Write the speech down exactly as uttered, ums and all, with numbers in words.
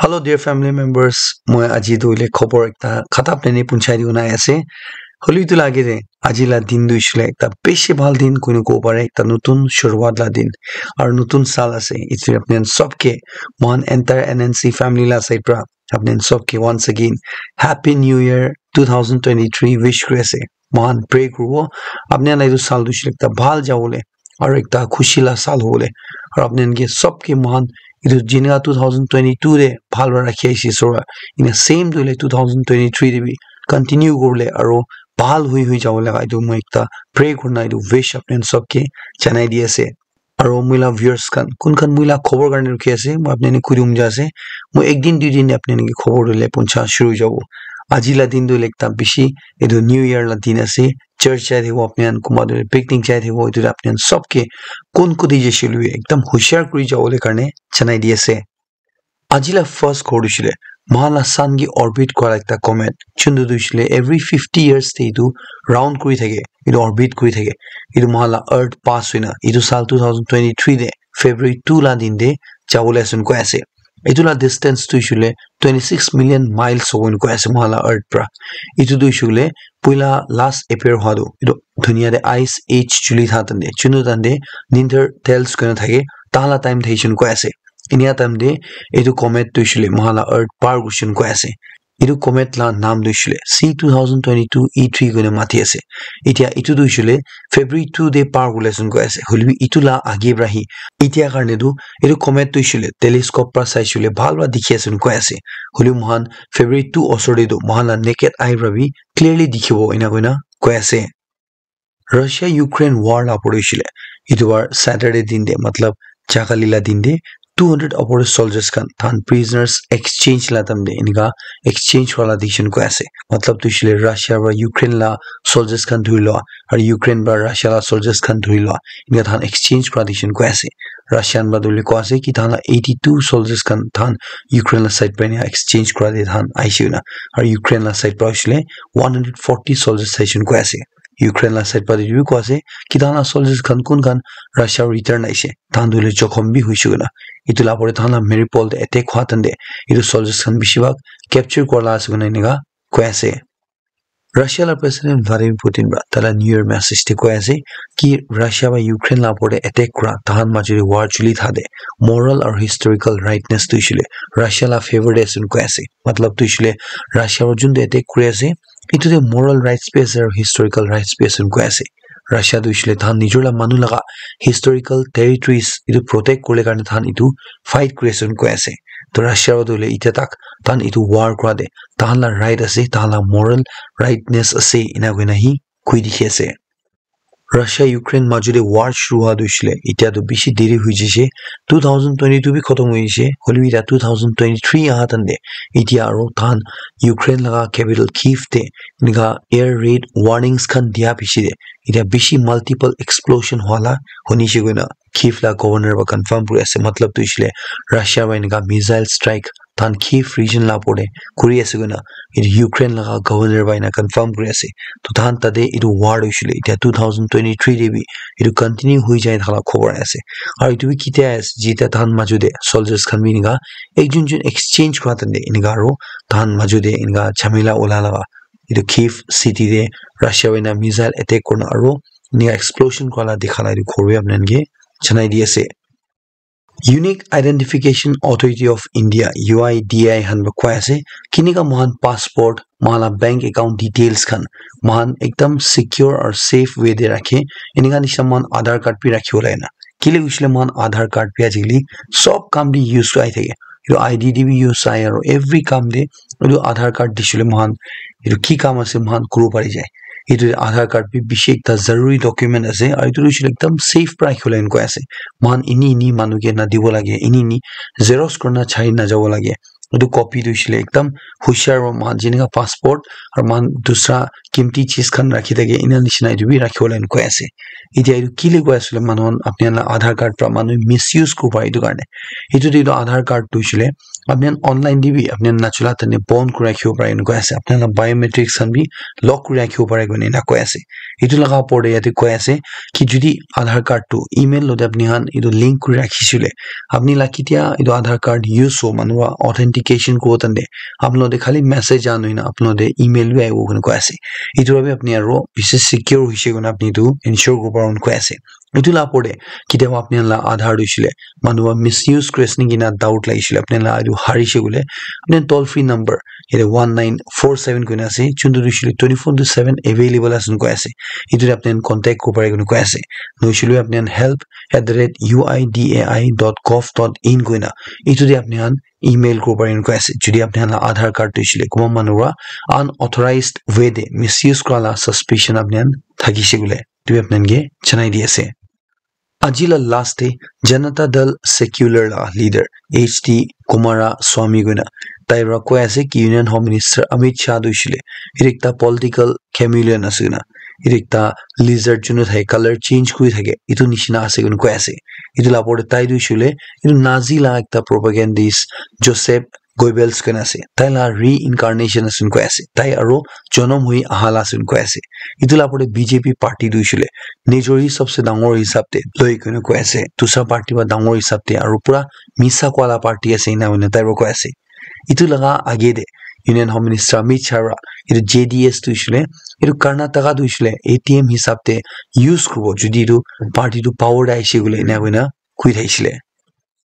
Hello dear family members, moi aji tu le khobor ekta khatap neni punchai di unai ase. Holi tu lage de aji la din tu ishile ekta bishi bhal din kuino ko pare, ekta nutun shuruat la din. Aru nutun sal ase. Itse apnen sob ke, mohan entire N N C family la side pra apnen sob ke once again Happy New Year two thousand twenty-three wish kuri ase. Mohan pray kuribo apni khan la etu sal tu hoishe ekta bhal jawole aru ekta khushi la sal hobole, aru apni khan ke sob ke mohan etu jina two thousand twenty-two de bhal para rakhi ase isor, ena same tu le two thousand twenty-three de bi continue kurle aru bhal hui hui jawole etu moi ekta pray kurina etu wish apni khan sob ke janai di ase. Aru moi la viewers khan kun khan moi la khobor karne rukhi ase, moi apni khan ke kudum ja ase. Moi ek din dui din apni khan ke khobor dile puncha shuru jabo. Aji la din tu ekta bishi etu New Year la din ase. Church jai thakibo apni khan, kunba tu picnic jai thakibo, etu apni khan sob ke kun kudi jaise hoile bi ekdam hushar kuri jawole karne janai di ase. Aji la first khobor tu hoishe le, mohan la sun ke orbit kura la ekta comet, chuntu tu hoishe le every fifty years te etu round kuri thake, etu orbit kuri thake. Etu mohan la earth pass hoina etu sal two thousand twenty-three de February two la din de jawole ase koi ase. Etu la distance tu hoishe le twenty-six million miles hobo koi ase mohan la earth pra. Etu tu hoishe le puila last appear hua tu etu dunia de ice age chuli tha tan de, chuntu tan de Neanderthals koina thake, tahan la time thakishe koi ase. Inia time de etu comet tu hoishe le mohan la earth par kurishe koi ase. Etu comet la naam tu hoishe le C two thousand twenty-two E three koina mati ase. Itia etu tu hoishe le February two de par kuri ase koi ase. Hoile bi etu la age pra hi itia karne tu etu comet tu hoishe le telescope pra saishe le bhal pra dikhi ase koi ase. Hoile mohan February two osor de tu mohan la naked eye pra bi clearly dikhibo ena koina koi ase. Russia Ukraine war la opor te hoishe le, etu war Saturday din de, matlab jakali la din de, two hundred opor te soldiers khan, tahan prisoners exchange la time de, enika exchange wala dikhi koi ase. Matlab tu hoishe le Russia pra Ukraine la soldiers khan dhuri lua, aru Ukraine pra Russia la soldiers khan dhuri lua, enika tahan exchange kura dikhi koi ase. Russian pra tu hoile koi ase ki tahan la eighty-two soldiers khan tahan Ukraine la side pra enika exchange kura de tahan aishe na, aru Ukraine la side pra hoishe le one hundred forty soldiers aishe koi ase. Ukraine la side pra etu bi koi ase ki tahan la soldiers khan kun khan Russia return aishe, tahan tu hoile jokhom bi hoishe koina. Etu la opor te tahan la Mariupol te attack hua time de etu soldiers khan bishi bhag capture kura la ase koina enika koi ase. Russia la President Vladimir Putin pra taila New Year message te koi ase ki Russia pra Ukraine la opor te attack kura, tahan majo te war chuli tha de, moral aru historical rightness tu hoishe le Russia la favor de ase koi ase. Matlab tu hoishe le Russia pra juntu attack kuri ase, etu de moral rights bi ase aru historical rights bi ase koi ase. Russia tu hoishe le tahan nijor la manu laga historical territories etu protect kuribole karne tahan etu fight kuri ase koi ase. To Russia tu hoile itia tak tahan etu war kura de tahan la right ase, tahan la moral rightness ase, ena koina hi koi dikhi ase. Russia Ukraine majo te war shuru hua tu hoishe le, itia tu bishi deri hoi jaise, two thousand twenty-two bi khotom hoi jaise, hoile bi itia two thousand twenty-three aha time de, itia aru tahan Ukraine laga capital Kyiv te enika air raid warnings khan dia piche de, itia bishi multiple explosion hua la hunishe koina Kyiv la governor pra confirm kuri ase, matlab tu hoishe le Russia pra enika missile strike tahan Kyiv region la opor te kuri ase koina etu Ukraine laga governor pra ena confirm kuri ase. To tahan tate etu war tu hoishe le itia two thousand twenty-three de bi etu continue hoi jai thaka la khobor ase. Aru etu bi kitia ase, jitia tahan majo te soldiers khan bi enika ekjun jun exchange kura time de enika aru tahan majo te enika jhamela ula laga etu Kyiv city te Russia pra ena missile attack kurina aru enika explosion kura la dikha la etu khobor bi apni khan ke janai di ase. Unique Identification Authority of India, U I D A I khan pra koi ase, kinika mohan passport, mohan la bank account details khan mohan ekdam secure aru safe way te rakhe, enika nishina mohan Aadhaar card bi rakhibo lage na. Kile hoishe le mohan Aadhaar card bi ajikali sob kam te use ahi thake. Etu I D te bi use ahi aru every kam te etu Aadhaar card dishile mohan etu ki kam ase mohan kuribo pari jai. Etu Aadhaar card bi bishi ekta zaruri document ase aru etu hoishe le ekdam safe pra rakhibole koi ase. Mohan ini ini manu ke nadibo lage, ini ini xerox kurina chai najabo lage. Etu copy tu hoishe le ekdam hushar pra mohan jenika passport aru mohan dusra kimti cheez khan rakhi thake ena nishina etu bi rakhibole koi ase. Itia etu kile koi ase le manu khan apni khan la Aadhaar card pra manu misuse kuribo pare etu karne. Etu tu etu Aadhaar card tu hoishe le apni khan online te bi apni khan nachula tane bon kuri rakhibo pare eneka ase. Apni khan la biometrics khan bi lock kuri rakhibo pare koina ena koi ase. Etu laga opor te yate koi ase ki jodi Aadhaar card tu email lote apni khan etu link kuri rakhi shile, apni la ketia etu Aadhaar card use ho manu para authentication kuro tande apni lote khali message an hoina apni lote email bi ahibo koi ase. Etu para bi apni aro bishi secure hoise koina apni etu ensure kuri paribo koi ase. Etu la opor te ketia apni khan la Aadhaar tu shile manu para misuse kuri ase naki na doubt lagi shile apni khan la etu harise koile apni khan toll free number yate one nine four seven koina ase, juntu tu shile twenty four into seven available ase koi ase. Etu te apni khan contact kuri pare koina koi ase. Nohoi shile apni khan help at the rate U I D A I dot gov dot in koina etu te apni khan email kuri pare koina koi ase. Jodi apni khan la Aadhaar card tu shile kuma manu para unauthorized way te misuse kura la suspicion apni khan thakise koile etu apni khan ke janai di ase. Aji la last te Janata Dal Secular la leader H D Kumaraswamy koina tai para koi ase ki Union Home Minister Amit Shah tu shile etu ekta political chameleon ase koina, etu ekta lizard junu thake color change kuri thake etu nishina ase koina koi ase. Etu la opor te tai tu shile etu Nazi la ekta propagandist Joseph Goebbels koina ase, tai la reincarnation ase koi ase, tai aro jonom hoi aha la ase koi ase. Etu la opor te B J P party tu shile nijor hisab se dangor hisab te loi koina koi ase, dusra party para dangor hisab te aro pura misa koa la party ase ena hoina tai para koi ase. Etu laga age te Union Home Minister Amit Shah para etu J D S tu shile etu Karnataka tu shile A T M hisab te use kuribo jodi etu party tu power te aise koile ena hoina koi thakisile.